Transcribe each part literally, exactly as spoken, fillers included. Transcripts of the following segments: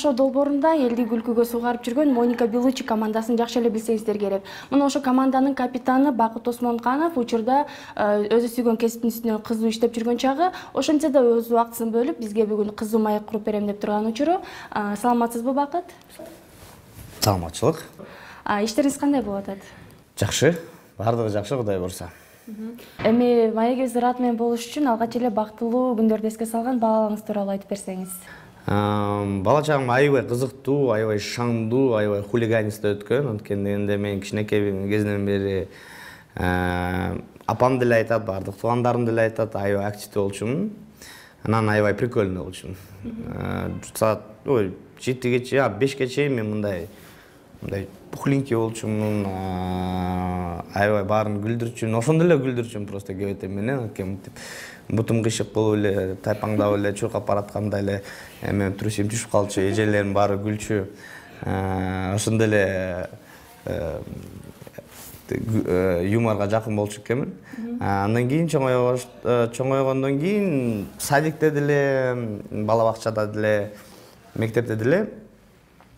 шоу долбоорунда элди күлкүгө сугарып жүргөн Моника Белуччи командасын жакшы эле билсеңиздер керек. Мына ошо команданын капитаны Бакыт Осмонканов учурда өзү сүйгөн кесиптин үстүнөн кызуу иштеп жүргөн чагы, ошентсе да өз убактысын бөлүп бизге бүгүн кызуу маек куруп берем деп турган учуру. Саламатсызбы, Бакыт? Саламатчылык. Иштериңиз кандай болуп атат? Жакшы, баардыгы жакшы, Кудай буйрса. Эми маегибизди ырат менен болуш үчүн алгач эле бактылуу күндөрдү эске салган балаңыз тууралуу айтып берсеңиз. Бала чагым аябай кызыктуу, аябай шаңдуу, аябай хулиганистте өткөн. Анткени мен кичинекей кезинен бери апам деле айтат, баардык туугандарым деле айтат, аябай активдүү болчумун. Анан аябай прикольный болчумун. Саат жетиге чейин, бешке чейин мен мындай мындай пухленький болчумун, аябай баарын күлдүрчүмүн, ошондо эле күлдүрчүмүн просто кебете менен, бутум кыйшык болуп эле, тайпаңдап эле чуркап баратканда эле эме трусим түшүп калчу, эжелерим баары күлчү. Ошондо эле юморго жакын болчу экенмин. Андан кийин чоңойгондон кийин садикте деле, бала бакчада деле, мектепте деле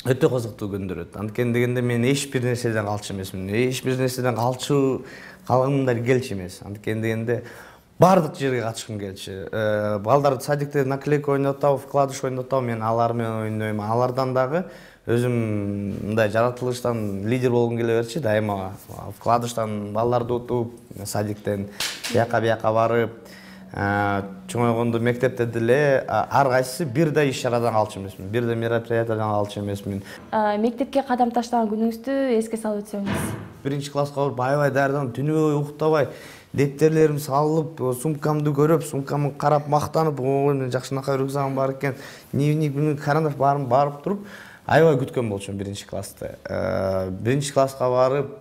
өтө кызыктуу күндөр өттү. Анткени дегенде мен эч бир нерседен калчу эмесмин. Эч бир нерседен калчу калгымдар келчү эмес. Анткени дегенде баардык жерге катышкым келчү. Балдар садикте наклейка ойнотоб, вкладыш ойнотоб, мен алар менен ойнойм. Алардан дагы өзүм мындай жаратылыштан лидер болгум келе берчи. Дайыма вкладыштан балдарды утуп, садиктен бияка бияка барып, чоңойгондо мектепте деле ар кайсысы бир да иш чарадан калчу эмесмин, бир да мероприятиядан калчу эмесмин. Мектепке кадам таштаган күнүңүздү эске салып өтсөңүз. Биринчи класска барып аябай даярданып, түнү бою уктабай, дептертерим салып, сумкамды көрүп, сумкамды карап мактанып, ой мен жакшынакай рюкзагым бар экен, дневник, карандаш баарын барып туруп, аябай күткөн болчумун биринчи классты. Биринчи класска барып,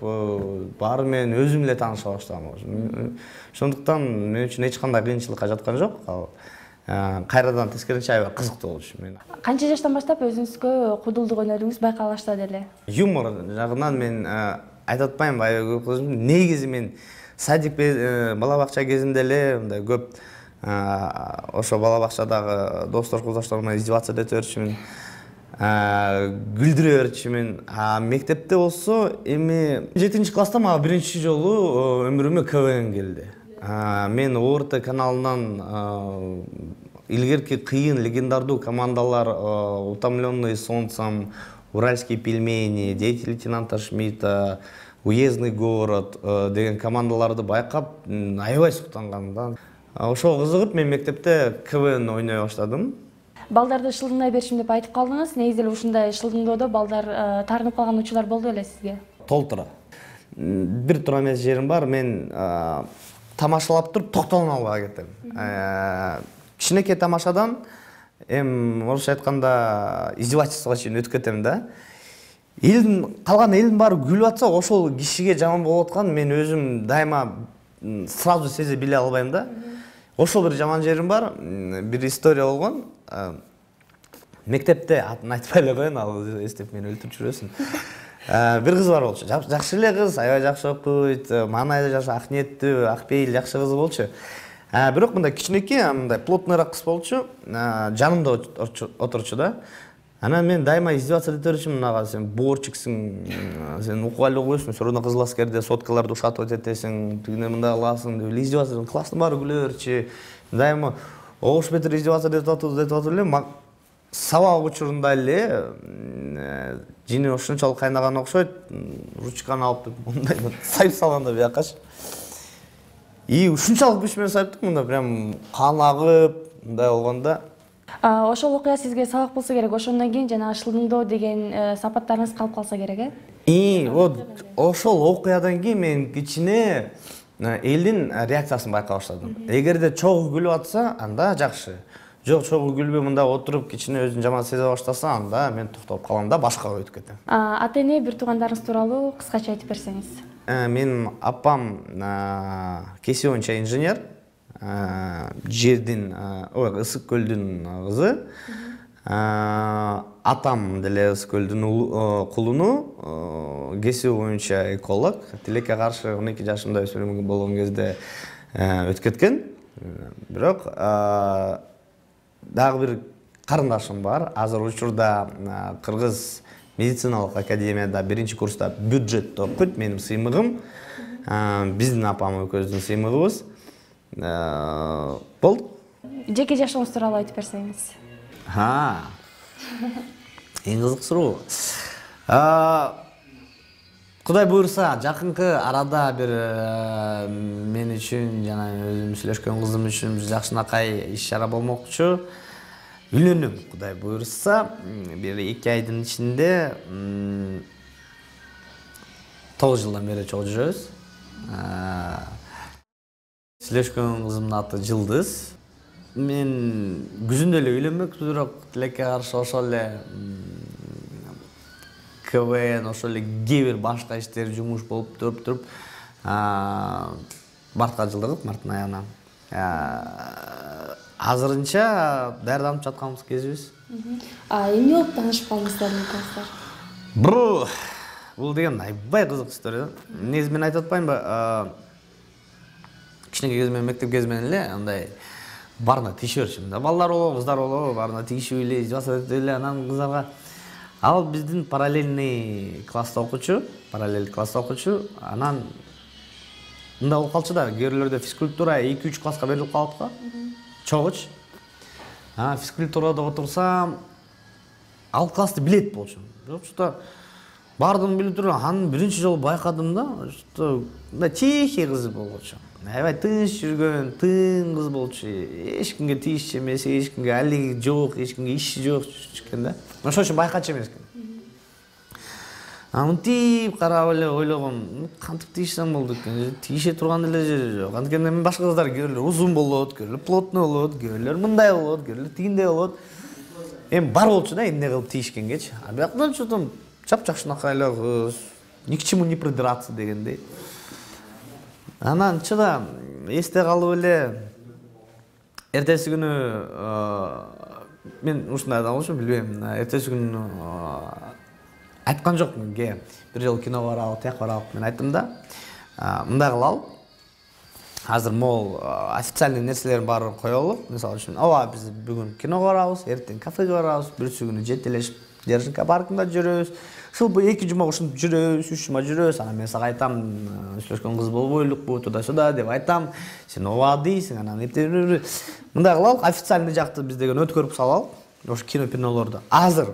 баары менен өзүм эле тааныша баштагам. Ошондуктан мен үчүн эч кандай кыйынчылыкка жаткан жок. Кайрадан тескерисинче аябай кызыктуу болчу мен. Канча жаштан баштап өзүңүзгө кудулдук өнөрүңүз байкала баштады эле? Юмор жагынан мен айтып атпайм, аябай көп кызыгым. Негизи мен садик бала бакча кезинде эле мындай көп ошо бала бакчадагы достор курдоштор менен издеваться этип берчүмүн, күлдүрө берчүмүн. Мектепте болсо эми жетинчи класста мага биринчи жолу өмүрүмө КВН келди. Мен ОРТ каналынан илгерки кыйын легендардуу командалар «Утомленные солнцем», «Уральские пельмени», «Дети лейтенанта Шмидта», «Уездный город» деген командаларды байкап, аябай суктангам. Ошого кызыгып мен мектепте КВН ойной баштадым. Балдарды шылдыңдай беришим деп айтып калдыңыз. Негизи эле ушундай шылдыңдоодо балдар таарынып калган учурлар болду беле сизге? Толтура. Бир туура эмес жерим бар. Мен тамашалап туруп токтоло албай кетем. Кичинекей тамашадан эми орусча айтканда издевательствого чейин өтүп кетем да. Элдин калган элдин баары күлүп атса, ошол кишиге жаман болуп аткан мен өзүм дайыма сразу сезе биле албайм да. Ошол бир жаман жерим бар. Бир история болгон. Мектепте атын айтпай эле коеюн, ал эстеп мени өлтүрүп жүрөсүн. Бир кыз бар болчу. Жакшы эле кыз, аябай жакшы окуйт, маанайда жакшы, ак ниеттүү, ак пейил, жакшы кыз болчу. Бирок мындай кичинекей, мындай плотныйраак кыз болчу. Жанымда отурчу да. Анан мен дайыма издеваться этип берчүмүн, ага сен боорчиксиң, сен окуп эле койсуң, все равно кызыл аскерде соткаларды ушатып этесиң, тигине мындай кыласың деп издеваться, класстын баары күлө берчү. Дайыма ош бетер издеваться этип атып атып эле, сабак учурунда эле жини ошончолук кайнаган окшойт, ручканы алып мындай сайып салганда биякачы. И ушунчалык күч менен сайыптык, мында прям кан агып, мындай болгондо. Ошол окуя сизге сабак болсо керек. Ошондон кийин жана шылдыңдоо деген сапаттарыңыз калып калса керек, э? И вот ошол окуядан кийин мен кичине элдин реакциясын байкай баштадым. Эгерде чогуу күлүп атса, анда жакшы. Жок, чогуу күлбөй мында отуруп кичине өзүн жаман сезе баштаса, анда мен токтолуп калам да, башкага өтүп кетем. Ата-эне, бир туугандарыңыз тууралуу кыскача айтып берсеңиз. Менин апам кесип боюнча инженер, жердин, ой, Ысык көлдүн кызы. Атам деле Ысык көлдүн кулуну, кесип боюнча эколог. Тилекке каршы он эки жашымда өспүрүм болгон кезде өтүп кеткен. Бирок дагы бир карындашым бар. Азыр учурда Кыргыз медициналык академияда биринчи курста бюджетте окуйт. Менин сыймыгым, биздин апам экөөбүздүн сыймыгыбыз. Болду. Жеке жашооңуз тууралуу айтып берсеңиз. Ha. Эң кызык суроо. Кудай буйрса, жакынкы арада бир мен үчүн жана өзүм сүйлөшкөн кызым үчүн жакшынакай иш-чара болмокчу. Үйлөнөм, Кудай буйрса, бир эки айдын ичинде тогуз жылдан бери чогуу жүрөбүз. Сүйлөшкөн кызымдын аты Жылдыз. Мен күзүндө эле үйлөнмөкмүн, бирок тилекке каршы ошол эле КВН, ошол эле кээ бир башка иштер жумуш болуп туруп туруп мартка жылдырдык, марттын аягына. Азырынча даярданып жатканыбыз кезибиз. А эмне болуп таанышып калдыңыздар экөөңүздөр? Бу бул деген аябай кызык история. Негизи мен айтып атпаймынбы? Кичинекей кезимден, мектеп кезимден эле андай барына тийише берчүмүн да. Балдар болобу, кыздар болобу, барына тийишип эле, жасап эле, анан кыздарга. Ал биздин параллельный класста окучу, параллель класста окучу. Анан мындай болуп калчу да, кээ физкультура эки үч класска берилип калат го. Чогуч. А физкультурада отурсам, ал классты билет болчу. Бирок что бардым билип туруп, анын биринчи жолу байкадым да, что мындай тихий кыз болчу. Аябай тыныч жүргөн, тын кыз болчу. Эч кимге тийишчү эмес, эч кимге алиги жок, эч кимге иши жок экен да. Ошол үчүн байкачу эмес экен. Мынтип карап эле ойлогом, кантип тийишсем болду экен. Тийише турган эле жери жок. Анткени мен башка кыздар көрүлөр узун болот, көрүлөр плотный болот, көрүлөр мындай болот, көрүлөр тигиндей болот. Эми бар болчу да эмне кылып тийишкенгечи. А бияктан чотом чап-чакшынакай эле кыз, ни к чему не придраться дегендей. Анан чыда эсте калып эле эртеси күнү мен ушундай адам болчумун, билбейм. Эртеси күнү айткан жокмун ге. Бир жолу кино барабы, тияк барабы. Мен айттым да, мындай кылалы. Азыр могул официальный нерселердин баарын коелу. Мисалы үчүн, ооба биз бүгүн киного барабыз, эртең кафеге барабыз, бүрсү күнү жетелешип Держинка паркында жүрөбүз. Шыл эки жума ушинтип жүрөбүз, үч жума жүрөбүз. Анан мен сага айтам, сүйлөшкөн кыз болбойлукпу, туда-сюда деп айтам. Сен ооба дейсиң, анан эптеп мындай кылалы, официальный жакты биз деген өткөрүп салалы. Ошо кино-пинолорду. Азыр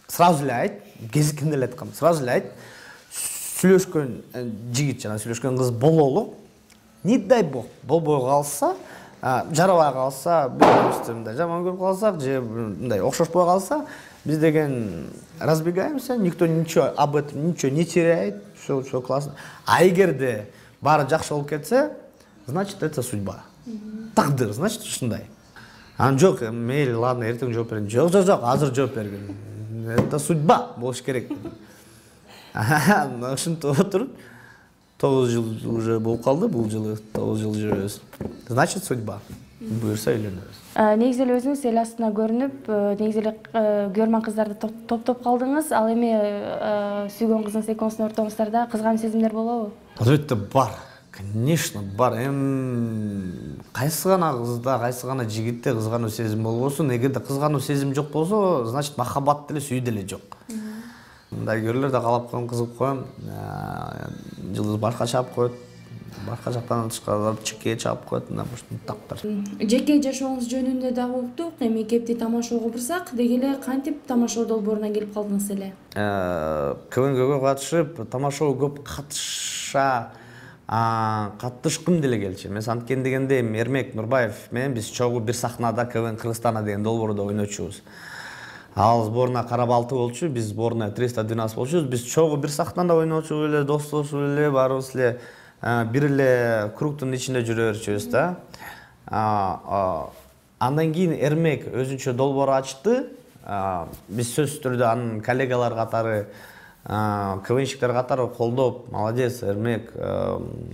сразу эле айт, кезикинде эле айткам. Сразу эле айт. Сүйлөшкөн жигит жана сүйлөшкөн кыз бололу. Не дай бог, болбой калса, жарабай калса, бирөөбүздү мындай жаман көрүп калсак, же мындай окшошпой калса, биз деген разбегаемся, никто ничего об этом ничего не теряет, все, все классно. А эгерде баары жакшы болуп кетсе, значит это судьба. Тагдыр, значит ушундай. Анан жок, мейли, ладно, эртең жооп берейин. Жок, жок, жок, азыр жооп бергин. Это судьба болуш керек. Ушинтип отуруп, тогуз жыл уже болуп калды, бул жылы тогуз жыл жүрөбүз. Значит судьба. Буюрса үйлөнөбүз. Негизи эле өзүңүз эл астына көрүнүп, негизи эле көрмөн кыздарды топтоп калдыңыз. Ал эми сүйгөн кызыңыз экөөңүздүн ортоңуздарда кызгануу сезимдер болобу? Албетте бар. Конечно, бар. Эми кайсы гана кызда, кайсы гана жигитте кызгануу сезим болбосун. Эгерде кызгануу сезим жок болсо, значит махаббат деле сүй деле жок. Мындай көрүлөр да калап коем, кызыгып коем. Жылдыз башка чаап коет. Башка жактан тышкарылып чекке чаап коет, мына ушундай тактар. Жеке жашооңуз жөнүндө дагы уктук. Эми кепти тамашоого бурсак, деги эле кантип тамашоо долбооруна келип калдыңыз эле? КВНгө катышып, тамашоого көп катыша катышкым деле келчү. Мен анткени дегенде Эрмек Нурбаев менен биз чогуу бир сахнада КВН Кыргызстана деген долбоордо ойночубуз. Ал сборна Карабалты болчу, биз сборна триста двенадцать болчубуз. Биз чогуу бир сахнада ойночуп эле, достошуп эле, баарыбыз эле бир эле кругтун ичинде жүрө берчүбүз да. Андан кийин Эрмек өзүнчө долбоор ачты. Биз сөзсүз түрдө анын коллегалар катары, КВНщиктер катары колдоп, молодец, Эрмек,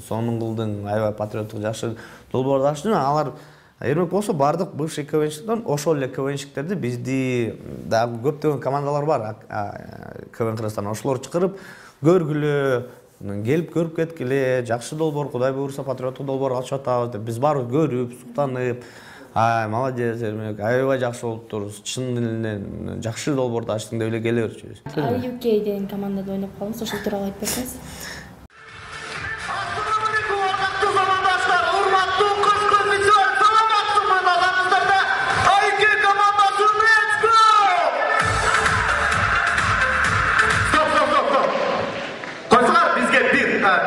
сонун кылдың, аябай патриоттук жакшы долбоор ачты. Алар Эрмек болсо бардык бывший КВНщиктер, ошол эле КВНщиктерди бизди дагы көптөгөн командалар бар, КВН Кыргызстан, ошолор чакырып көргүлө, келип көрүп кеткиле, жакшы долбоор, Кудай буйрса патриоттук долбоор ачып атабыз деп биз барып көрүп, суктанып, Ай, молодец, Эрмек. Аябай жакшы болуптур. Чын элинен жакшы долбоорду ачтың деп эле келе берчүбүз. ай ю кей деген командада ойноп калдыңыз. Ошол тууралуу айтып берсеңиз.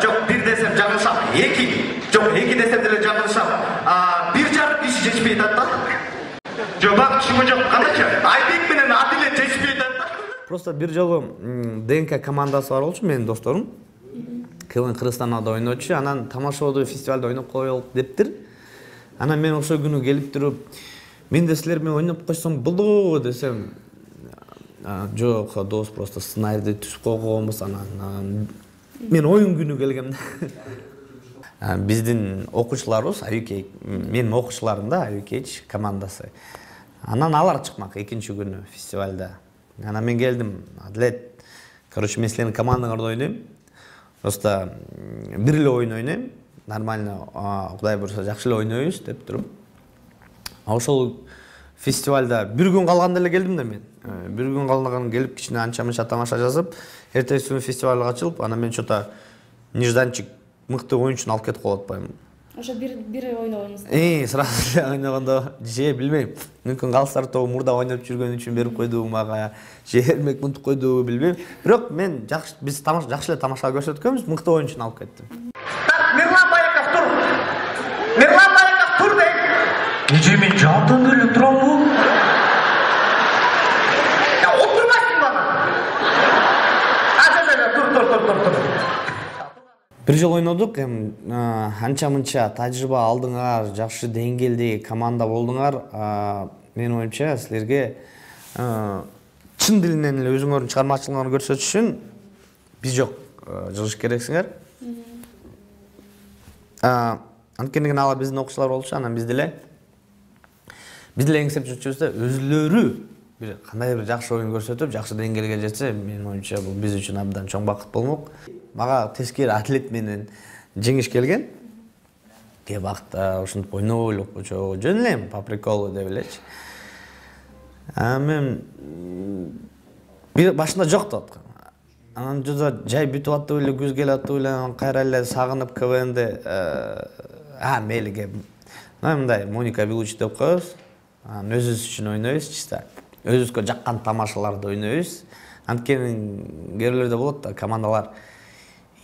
Жок, бир десем жаңылышам. Эки. Жок, эки десем деле жаңылышам. Бир жарым киши жетишпей атат да. Жок, бак чымы жок. Кандайчы? Айбек менен Адиле жетишпей атат да. Просто бир жолу ДНК командасы бар болчу, менин досторум. КВН Кыргызстанда ойночу, анан тамашабоодо фестивалда ойноп коелук дептир. Анан мен ошол күнү келип туруп, мен да силер менен ойноп койсом болду десем, жок, дос, просто сценарийди түзүп койгонбуз, анан мен оюн күнү келгем да. Биздин окуучуларыбыз ай ю кей, менин окуучуларым да ай ю кей командасы. Анан алар чыкмак экинчи күнү фестивалда. Анан мен келдим, Адлет, короче, мен силердин командаңарда ойнойм. Просто бир эле оюн ойнойм. Нормально, Кудай буйруса жакшы эле ойнойбуз деп туруп. Ошол фестивалда бир күн калганда эле келдим да мен. Бир күн калган келип кичине анча-мынча тамаша жазып, эртеси күнү фестивалга качылып, анан мен чота нежданчик мыкты оюнчуну алып кетип калып атпаймынбы. Ошо бир бир ойногонуңуз. Э, сразу эле ойногондо же билбейм. Мүмкүн Галстар тобу мурда ойноп жүргөн үчүн берип койдубу мага, же Эрмек мынтип койдубу билбейм. Бирок мен жакшы биз тамаша жакшы эле тамаша көрсөткөнбүз, мыкты оюнчуну алып кеттим. Мирлан Байков тур. Мирлан Байков тур дейт. Эже мен жабдан эле турамбы? Я отурмайсың бана. Азыр тур тур тур тур тур. Бир жол ойнодук, эми анча-мынча тажрыйба алдыңар, жакшы деңгээлдеги команда болдуңар. Менин оюмча, силерге чын дилинен эле өзүңөрдүн чыгармачылыгыңарды көрсөтүш үчүн биз жок жылыш керексиңер. Анткени алар биздин окуучулар болчу, анан биз деле биз деле эңсеп жүрчүбүз да, өзүлөрү бир кандай бир жакшы оюн көрсөтүп, жакшы деңгээлге жетсе, менин оюмча бул биз үчүн абдан чоң бакыт болмок. Мага тескери Атлет менен жеңиш келген. Ке бакта ушинтип ойноп элек койчу, жөн эле по приколу деп элечи. А мен бир башында жок деп аткам. Анан жада жай бүтүп аттып эле, күз келип аттып эле, кайра эле сагынып КВНди, а мейлиге мындай Моника Белучи деп коебуз. Анан өзүбүз үчүн ойнойбуз, чисто өзүбүзгө жаккан тамашаларды ойнойбуз. Анткени кээрлерде болот да, командалар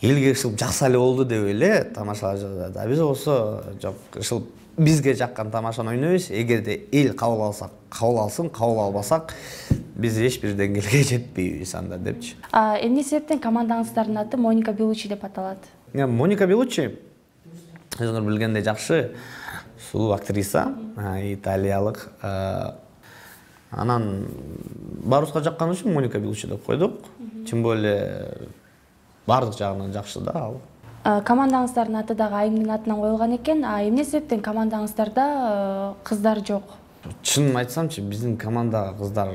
элге ышылып жакса эле болду деп эле тамашалар жазат. А биз болсо жок, ышылып бизге жаккан тамашаны ойнойбуз. Эгерде эл кабыл алса, кабыл алсын, кабыл албасак, биз эч бир деңгээлге жетпейбиз анда депчи. А эмне себептен командаңыздардын аты Моника Белучи деп аталат? Моника Белучи, өзүңөр билгендей, жакшы сулуу актриса, италиялык. Анан баарыбызга жаккан үчүн Моника Белучи деп койдук. Тем более бардык жагынан жакшы да ал. Командаңыздардын аты дагы айымдын атынан коюлган экен. А эмне себептен командаңыздарда кыздар жок? Чынын айтсамчы, биздин командага кыздар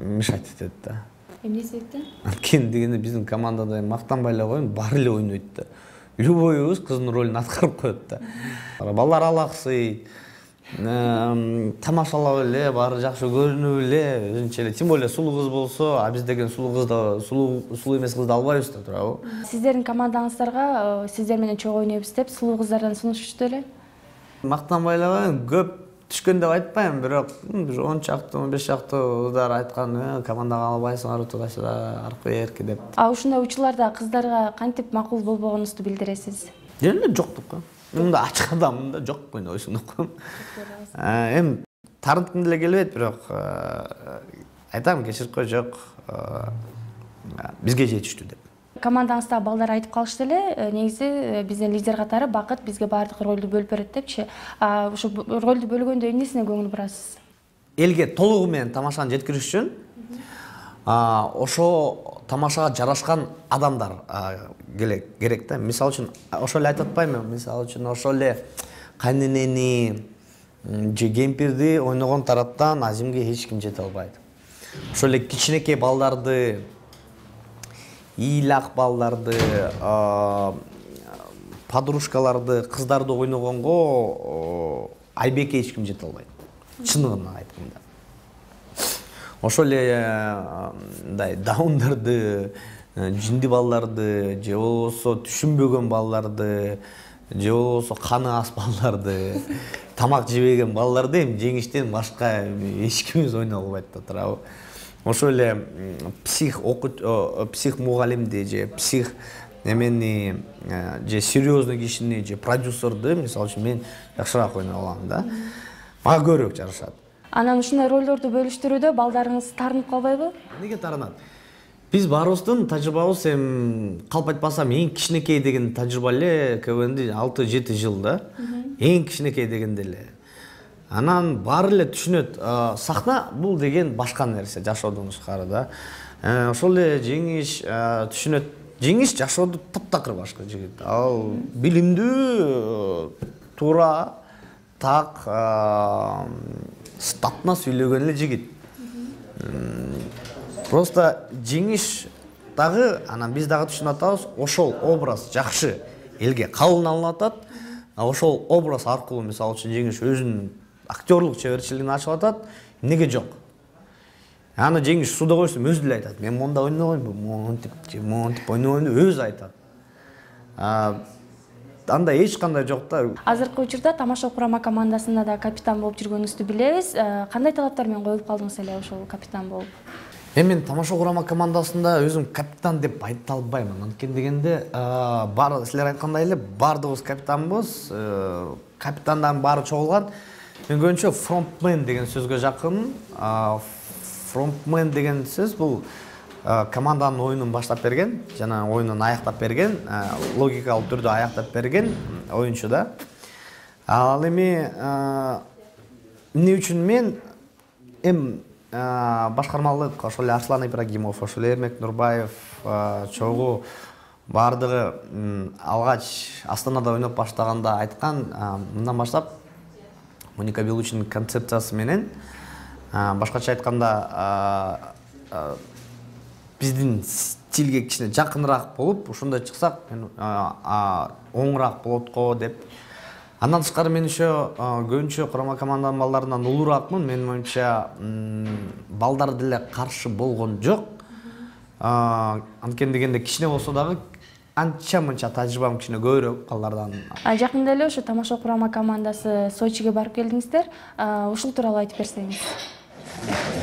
мешать этет да. Эмне себептен? Анткени дегенде биздин командада мактанбай эле коеюн, баары эле ойнойт да. Любойубуз кыздын ролун аткарып коет да. Балдар алаксый, тамашалап эле, баары жакшы көрүнүп эле, өзүнчө эле. Тем более сулуу кыз болсо, а биз деген сулуу кызды, сулуу сулуу эмес кызды албайбыз да, туурабы? Сиздердин командаңыздарга сиздер менен чогуу ойнойбуз деп сулуу кыздардан сунушту эле? Мактанбай эле коеюн, көп түшкөн деп айтпайм, бирок бир он чакты, он беш чакты кыздар айткан, командага албайсыңар, туда-сюда, аркы берки деп. А ушундай учурларда кыздарга кантип макул болбогонуңузду билдиресиз? Эле жок деп коем. Мында ачык адаммын да, жок ойнойсуң деп коем. Эми тарынткым деле келбейт, бирок айтам, кечирип кой, жок. Бизге жетиштүү деп. Командаңыздагы балдар айтып калышты эле, негизи биздин лидер катары Бакыт бизге баардык ролду бөлүп берет депчи. Ошо ролду бөлгөндө эмнесине көңүл бурасыз? Элге толугу менен тамашаны жеткириш үчүн ошо тамашага жарашкан адамдар керек да. Мисалы үчүн ошо эле айтып атпаймынбы? Мисалы үчүн ошо эле кайненени же кемпирди ойногон тараптан Азимге эч ким жете албайт. Ошо эле кичинекей балдарды, ыйлак балдарды, подружкаларды, кыздарды ойногонго Айбекке эч ким жете албайт. чыныгын айтканда. Ошол эле мындай даундарды, жинди балдарды, же болбосо түшүнбөгөн балдарды, же болбосо каны ас балдарды, тамак жебеген балдарды эми жеңиштен башка эч кимибиз ойной албайт да туурабы. Ошол эле псих псих мугалимди же псих эмени же серьезный кишини же продюсерди мисалы үчүн мен жакшыраак ойной алам да. Мага көбүрөөк жарашат. Анан ушундай ролдорду бөлүштүрүүдө балдарыңыз таарынып калбайбы? Неге таарынат? Биз баарыбыздын тажрыйбабыз эми калп айтпасам эң кичинекей деген тажрыйба эле КВНди алты жети жыл да. Эң кичинекей дегенде эле. Анан баары эле түшүнөт, сахна бул деген башка нерсе, жашоодон тышкары да. Ошол эле жеңиш түшүнөт. Жеңиш жашоодо таптакыр башка жигит. Ал билимдүү, туура, так, статна сүйлөгөн эле жигит. Просто жеңиш дагы, анан биз дагы түшүнүп атабыз, ошол образ жакшы элге кабыл алынып атат. Ошол образ аркылуу мисалы үчүн жеңиш өзүнүн актерлук чеберчилигин ачып атат. Эмнеге жок? Аны жеңиш суда койсом өзү деле айтат. Мен монда ойнобоймун, монтип, монтип ойнобоймун деп өзү айтат. Анда эч кандай жок да. Азыркы учурда Тамаша курама командасында да капитан болуп жүргөнүңүздү билебиз. Кандай талаптар менен коюп калдыңыз эле ошол капитан болуп? Эми мен Тамаша курама командасында өзүм капитан деп айта албаймын. Анткени дегенде, бар силер айткандай эле бардыгыбыз капитанбыз. Капитандан баары чогулган. Мен көбүнчө фронтмен деген сөзгө жакын. Фронтмен деген сөз бул команданын оюнун баштап берген, жана оюнун аяктап берген, логикалык түрдө аяктап берген оюнчу да. Ал эми эмне үчүн мен эм башкармалык ошол эле Арслан Ибрагимов, ошол эле Эрмек Нурбаев чогуу бардыгы алгач Астанада ойноп баштаганда айткан, мындан баштап Моника Белучинин концепциясы менен, башкача айтканда биздин стилге кичине жакыныраак болуп, ушундай чыксак, оңураак болот го деп. Андан тышкары мен еще көбүнчө курама команданын балдарынан улураакмын. Менин оюмча балдар деле каршы болгон жок. Анткени дегенде кичине болсо дагы анча-мынча тажрыйбам кичине көбүрөөк балдардан. Жакында эле ошо Тамаша курама командасы Сочиге барып келдиңиздер. Ушул тууралуу айтып берсеңиз.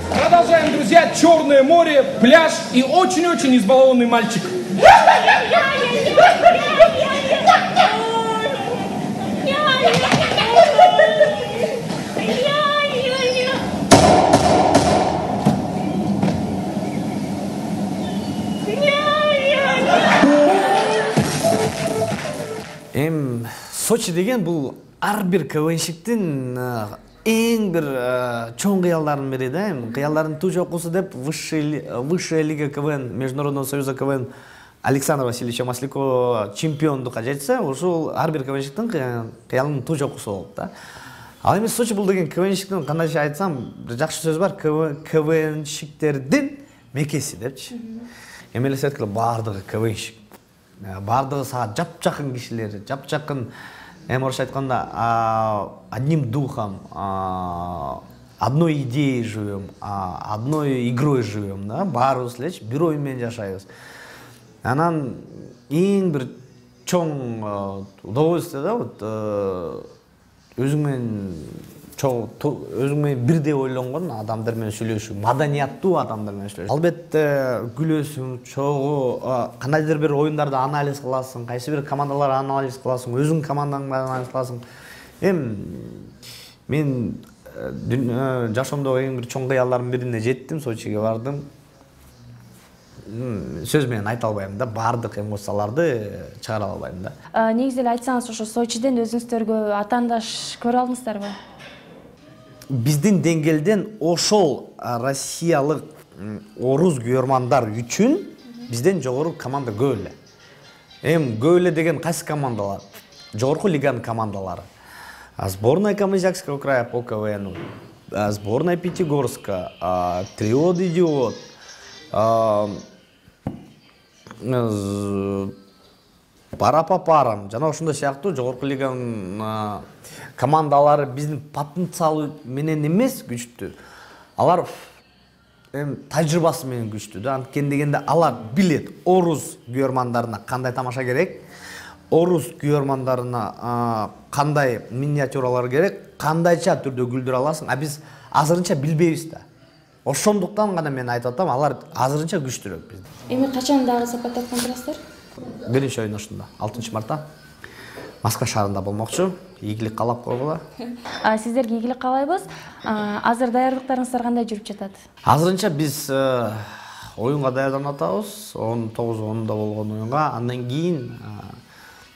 Продолжаем, друзья. Черное море, пляж и очень-очень избалованный мальчик. Эм, Сочи деген бул ар бир КВНщиктин эң бир чоң кыялдардын бири да. Кыялдардын туу жокусу деп высшая лига КВН Международного союза КВН Александра Васильевича Маслякова чемпиондукка жетсе, ошол ар бир КВНщиктин кыялынын туу жокусу болот да. Ал эми Сочи бул деген КВНщиктин кандайча айтсам, жакшы сөз бар, КВНщиктердин мекеси депчи. Эми эле сеткиле бардыгы КВНщик. Бардыгы сага жапжакын кишилер, жапжакын. Эми орусча айтканда, одним духом, одной идеей живем, одной игрой живем, да? Баарыбыз элечи бир ой менен жашайбыз. Анан эң бир чоң удовольствие да, вот өзүң менен чоң өзүң менен бирдей ойлонгон адамдар менен сүйлөшүү, маданияттуу адамдар менен сүйлөшүү. Албетте күлөсүң, чогуу кандайдыр бир оюндарды анализ кыласың, кайсы бир командаларды анализ кыласың, өзүң командаңды анализ кыласың. Эми мен жашоомдогу эң бир чоң кыялдардын бирине жеттим, Сочиге бардым. Сөз менен айта албайм да, бардык эмоцияларды чыгара албайм да. Негизи эле айтсаңыз, ошо Сочиден өзүңүздөргө атаандаш көрө алдыңыздарбы? Биздин деңгээлден ошол россиялык орус күйөрмандар үчүн бизден жогору команда көп эле. Эми көп эле деген кайсы командалар? Жогорку лиганын командалары. Сборная Камызякского края по КВНу, сборная Пятигорска, Триод Идиот, Пара-папарам жана ошондой сыяктуу жогорку лиганын командалары биздин потенциалы менен эмес күчтүү. Алар эми тажрыйбасы менен күчтүү да. Анткени дегенде алар билет орус күйөрмандарына кандай тамаша керек, орус күйөрмандарына кандай миниатюралар керек, кандайча түрдө күлдүрө аласың, а биз азырынча билбейбиз да. Ошондуктан гана мен айтып атам, алар азырынча күчтүүрөөк бизден. Эми качан дагы сапаттаткан турасыздар? Биринчи оюн ушунда, алтынчы мартта Москва шаарында болмокчу. Ийгилик каалап койгула. Сиздерге ийгилик каалайбыз. Азыр даярдыктарыңыздар кандай жүрүп жатат? Азырынча биз оюнга даярданып атабыз. он тогуз онунда болгон оюнга. Андан кийин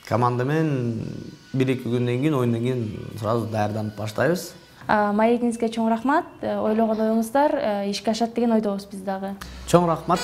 команда менен бир-эки күндөн кийин, оюндан кийин сразу даярданып баштайбыз. Маегиңизге чоң рахмат. Ойлогон оюңуздар ишке ашат деген ойдобуз биз дагы. Чоң рахмат.